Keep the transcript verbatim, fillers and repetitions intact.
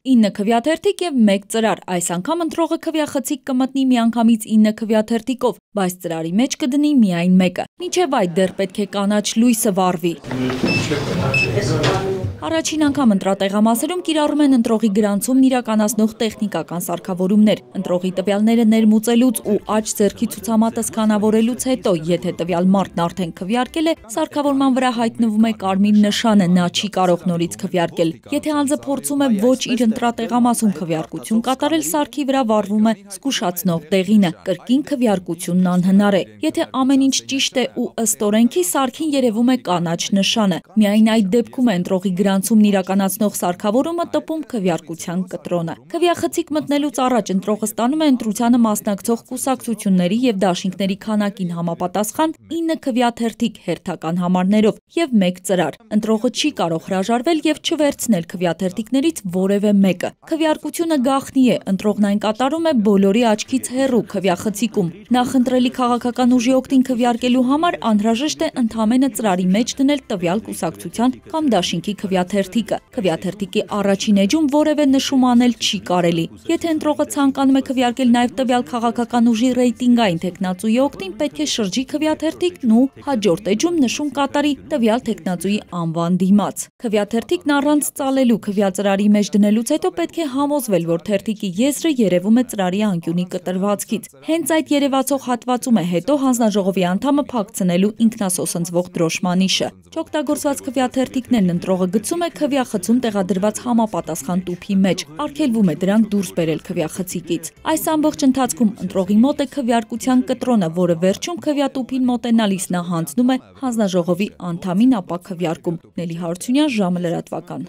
ինը քվյաթերթիկ և մեկ ծրար, այս անգամ ընտրողը քվյախցիկ կմտնի միանգամից ինը քվյաթերթիկով, բայց ծրարի մեջ կդնի միայն մեկը, մինչև այդ դեռ պետք է կանաչ լույսը վառվի։ Առաջին անգամ ընտրատեղամասերում կիրառում են ընտրողի գրանցումն իրականացնող տեխնիկական սարքավորումներ, ընտրողի տվյալները ներմուծելուց ու աջ ձեռքի ցուցամատը սկանավորելուց հետո, եթե տվյալ մարդն արդեն քվյարկել է, սարքավորման վրա հայտնվում է կարմիր նշանը, նա չի կարող նորից քվյարկել։ Եթե անձը փորձում է ոչ իր ընտրատեղամասում քվյարկություն կատարել, սարքի վրա վառվում է զգուշացնող դեղինը, կրկին քվյարկությունն անհնար է։ Եթե ամեն ինչ ճիշտ է ու ըստ օրենքի, սարքին երևում է կանաչ նշանը։ Միայն այդ դեպքում է ընտրողի գրանցումն իրականացնող սարքավորումը տպում քվյարկության կտրոնը։ Քվյախցիկ մտնելուց առաջ ընտրողը ստանում է ընտրությանը մասնակցող կուսակցությունների և դաշինքների քանակին համապատասխան ինը քվյաթերթիկ հերթական համարներով և մեկ ծրար։ Ընտրողը չի կարող հրաժարվել և չվերցնել քվյաթերթիկներից որևէ մեկը։ Քվյարկությունը գաղտնի է, ընտրողն այն կատարում է բոլորի աչքից հեռու քվյախցիկում։ Նախընտրելի քաղաքական ուժի օգտին քվյարկելու համար անհրաժեշտ է ընդամենը ծրարի մեջ դնել տվյալ կուսակցության կամ դաշինքի քվյաթերթիկը։ Քվյաթերթիկի առաջին էջում որևէ նշում անել չի կարելի։ Եթե ընտրողը ցանկանում է քվյարկել նաև տվյալ քաղաքական ուժի ռեյտինգային թեկնածուի օգտին, պետք է շրջի քվյաթերթիկն ու հաջորդ էջում նշում կատարի տվյալ թեկնածուի անվան դիմաց։ Քվյաթերթիկն առանց ծալելու քվյածրարի մեջ դնելուց հետո պետք է համոզվել, որ թերթիկի եզրը երևում է ծրարի անկյունի կտրվածքից։ Հենց այդ երևացող հատվածում է հետո հանձնաժողովի անդամը փակցնելու ինքնասոսնձվող դրոշմանիշը։ Չօգտագործված քվյաթերթիկներն ընտրողը գցում է քվյախցում տեղադրված համապատասխան տուփի մեջ, արգելվում է դրանք դուրս բերել քվյախցիկից։ Այս ամբողջ ընթացքում ընտրողի մոտ է քվյարկության կտրոնը, որը վերջում քվյատուփին մոտենալիս նա հանձնում է հանձնաժողովի անդամին, ապա քվյարկում։ Նելի Հարությունյան, ժամը լրատվական։